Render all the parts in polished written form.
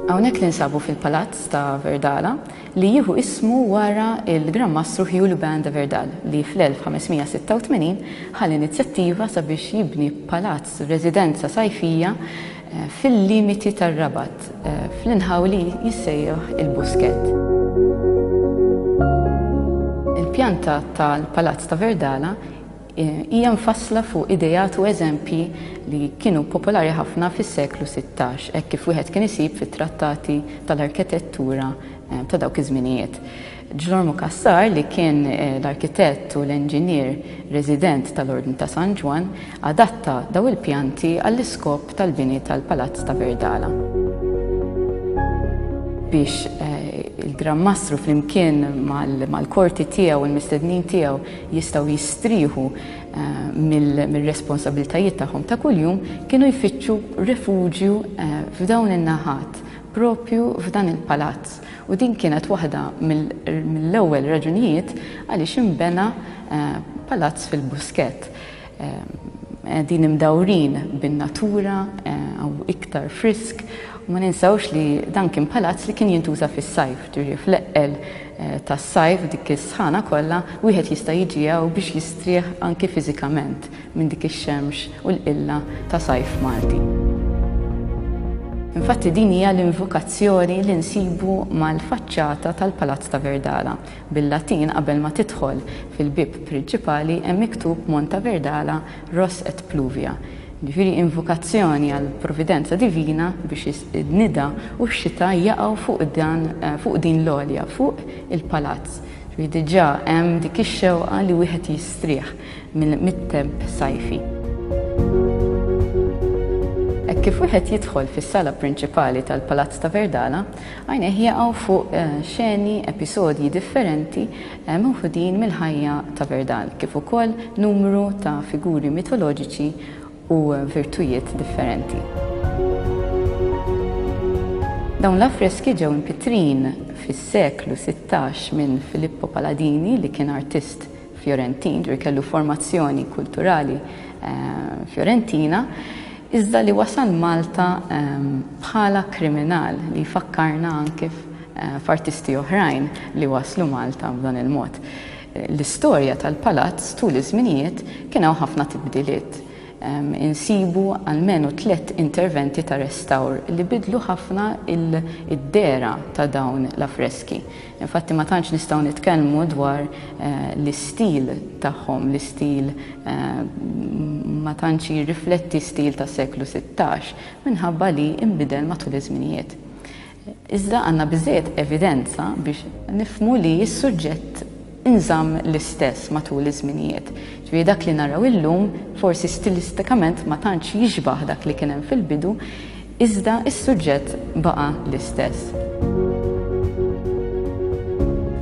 Hawnhekk ninsabu fil-Palazz ta' Verdala li jieħu ismu wara il-Gran Mastru Hugh Lubin de Verdal li fl-1586 ħa l-inizjattiva sabiex jibni palazz residenza sajfija eh, fil-limiti tar-Rabat eh, fl-inħawi li jissejjaħ il-Buskett. Il-pjanta tal-Palazz ta' Verdala Hija mfassla fuq ideat u eżempji li kienu popolari ħafna fis-seklu 16, hekk kif wieħed kien isib fit-trattati tal-arkitettura ta' dawk iż-żminijiet. Ġlormu Cassar, li kien l-arkitett u l-enġinier resident tal-Ordni ta' San Ġwann, adatta daw il-pjanti għall-iskop tal-bini tal-Palazz ta' Verdala. Biex il-Gran Mastru flimkien mal-korti tiegħu u l-mistednin tiegħu jistgħu jistrieħu mir-responsabbiltajiet tagħhom ta' kuljum, kienu jfittxu refuġju f'dawn in-naħat, propju f'dan il-palazz. U din kienet waħda mill-ewwel raġunijiet għaliex inbena palazz fil-Buskett. Qegħdin imdawrin bin-natura, hawn iktar frisk, u ma ninsewx li dan kien palazz li kien jintuża fis-sajf, ġifieri fl-eqqel tas-sajf dik is-sħana kollha wieħed jista' jiġi hawn biex jistrieħ anki fiżikament minn dik ix-xemx u l-qilla ta' sajf Malti. Infatti din hija l-invokazzjoni li nsibu mal-faċċata tal-Palazz ta' Verdala. Bil-Latin qabel ma tidħol fil-bieb prinċipali hemm miktub Monta Verdala Ros et Pluvia. Jiġifieri invokazzjoni għall-providenza divina biex in-nida u x-xita jaqgħu fuq dan fuq din l-għolja, fuq il-palazz. Ġifieri diġà hemm dik ix-xewqa li wieħed jistrieħ mit-temp sajfi. Hekk kif wieħed jidħol fis-sala prinċipali tal-Palazz ta' Verdala, għajnejh jaqgħu fuq xeni, episodji differenti meħudin mill-ħajja ta' Verdal, kif ukoll numru ta' figuri mitoloġiċi u virtujiet differenti. Dawn l-affreski ġew impittrin fis-seklu 16 minn Filippo Paladini li kien artist Fjorentin, ġifieri kellu formazzjoni kulturali eh, Fjorentina, iżda li wasal Malta eh, bħala kriminal li jfakkarna anke eh, f'artisti oħrajn li waslu Malta b'dan il-mod. L-istorja tal-palazz tul iż-żminijiet kien hawn ħafna tibdiliet. Insibu almenu tlett interventi ta' restawr li bidlu ħafna id-dehra ta' dawn l-affreski. Infatti ma tantx nistgħu nitkellmu dwar l-istil tagħhom, l-istil ma tantx jirrifletti stil tas-seklu 16 minħabba li nbidel matul iż-żminijiet. Iżda għandna biżżejjed evidenza biex nifhmu li s-suġġett inżamm l-istess matul iż-żminijiet. Ġifieri dak li naraw illum forsi stilistikament ma tantx jixbah dak li kien hemm fil-bidu, iżda s-suġġett baqa' l-istess.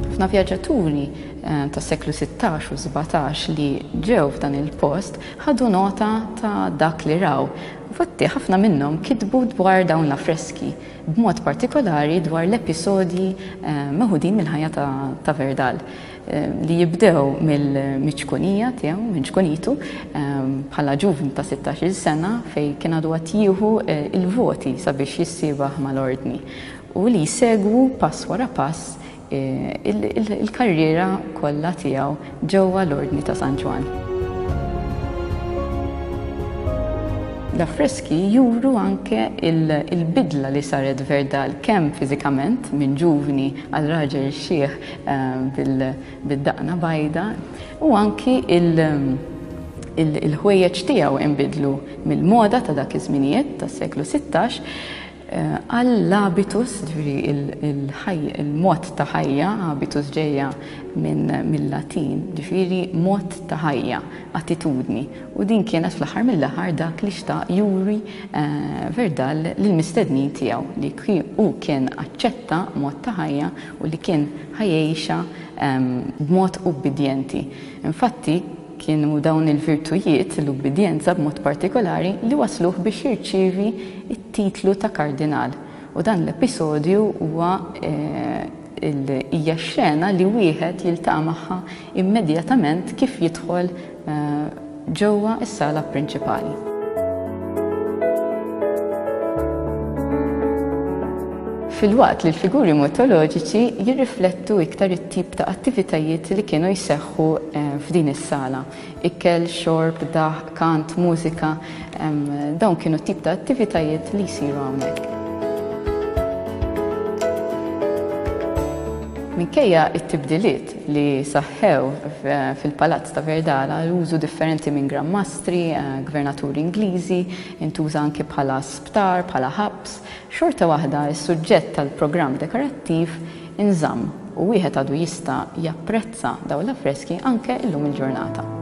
Ħafna vjaġġaturi eh, tas-seklu 16 u 17 li ġew f'dan il-post ħadu nota ta' dak li raw. Infatti ħafna minnhom kitbu dwar dawn l-affreski, b'mod partikolari dwar l-episodji meħudin mill-ħajja ta' Verdal, li jibdew mill-ċkunija tiegħu, minn ċkunitu, bħala ġuvni ta' 16-il sena fejn kien għadu għad jieħu l-voti sabiex jissiebaħ mal-Ordni, u li jsegwu pass wara pass il-karriera kollha tiegħu ġewwa l-Ordni ta' San Ġwann. L-affreski juru anke il-bidla li saret Verdal kemm fiżikament minn ġuvni għal raġel xiħ eh, bil-daqna bajda u anki il-ħwejjeġ tiegħu inbidlu mill-moda ta' dak iż-żminijiet tas-seklu 16 Għall-habitus, ġifieri il-mod ta' ħajja, habitus ġejja minn mill-Latin, ġifieri mod ta' ħajja, attitudni. U din kienet fl-aħħar mill-aħħar dak li xtaq juri Verdal lill-mistednin tiegħu, li hu kien aċċetta mod ta' ħajja u li kien ħa jgħixha b'mod ubbidjenti. Infatti, Kienu dawn il-virtujiet, l-ubbidjenza b'mod partikolari, li wassluh biex jirċievi t-titlu ta' kardinal. U dan l-episodju huwa hija x-xena li wieħed jiltaqa' magħha immedjatament kif jidħol ġewwa s-sala prinċipali. Filwaqt li l-figuri mitoloġiċi jirriflettu iktar it-tip ta' attivitajiet li kienu jseħħu f'din is-sala. Ikel, xorb, daħq, kant, mużika, dawn kienu t-tip ta' attivitajiet li jsiru hawnhekk. Minkejja t-tibdiliet li saħħew fil-Palazz ta' Verdala, l-użu differenti minn Gran Mastri, gvernaturi Ingliżi, intuża anki bħala sptar, bħala ħabs, xorta waħda s-suġġett tal-programm dekorattiv inżamm u wieħed għadu jista' japprezza dawn l-affreski anke llum il-ġurnata.